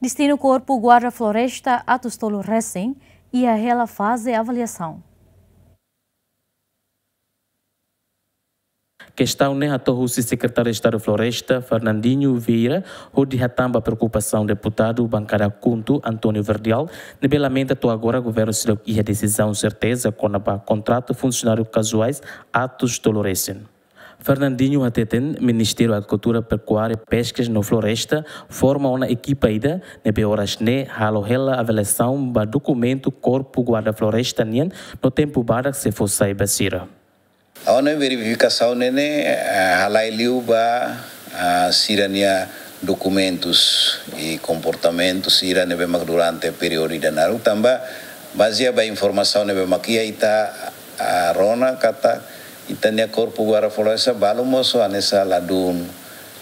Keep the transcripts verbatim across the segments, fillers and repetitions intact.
Destinu Korpu Guarda Floresta atus tolu resin iha hela faze avaliasaun. Kestaun ne'e hato'o husi Sekretáriu Estadu Floresta, Fernandinho Vieira, hodi hatán ba preokupasaun deputadu bankada KHUNTO, António Verdial, ne'ebé lamenta to'o agora governu seidauk iha desizaun serteza kona-ba kontratu funsionáriu kazuais atus tolu resin. Fernandinho hateten, Ministériu Agrikultura, Pekuária, Peskas no Floresta forma ona ekipa ida ne'ebé oras ne'e halo hela avaliasaun ba dokumentu Korpu Guarda Floresta nian no tempu badak sei fó sai ba sira. Ha'u-nia verifikasaun ne'e, eh, halai liu ba, ah, sira-nia dokumentus i komportamentu sira ne'ebé mak durante períodu ida naruk tanba bazeia ba informasaun ne'ebé mak iha ita, ah, rona katak ita-nia Korpu Guarda Floresta balu mosu hanesan ladún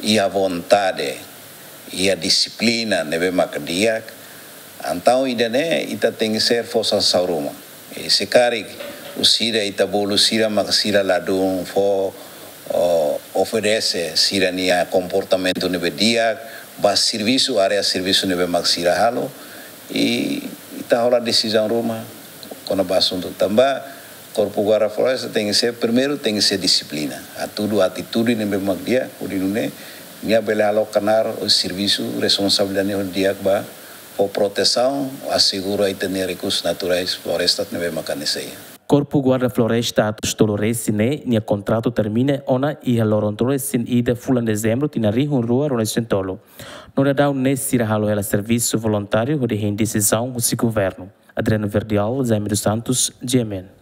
iha vontade, iha dixiplina ne'ebé mak di'ak. Entaun ida-ne'e ita tenke ser forsa sauruma. I se karik husi ida ita bolu sira mak sira ladún fó, o, obedese sira-nia komportamentu ne'ebé di'ak ba servisu, área servisu ne'ebé mak sira halo. I ita hola desizaun ruma kona-ba asuntu tanba Korpu Guarda Floresta tenke ser, primeiru tenke ser dixiplina. Hatudu atitude ne'ebé mak di'ak, hodi nune'e nia bele halo knaar servisu, responsabilidade ne'e di'ak ba fó protesaun, asegura ita-nia rekursus naturais floresta ne'ebé mak hanesan iha. Korpu Guarda Floresta atus tolu resin ne'e nia kontratu termina ona iha loron ruanulu resin ida fulan Dezembru tinan rihun rua ruanulu resin tolu. No daudaun ne'e sira halo hela servisu voluntáriu hodi hein desizaun husi governu. Adriano Verdial, Jaime dos Santos, G M N.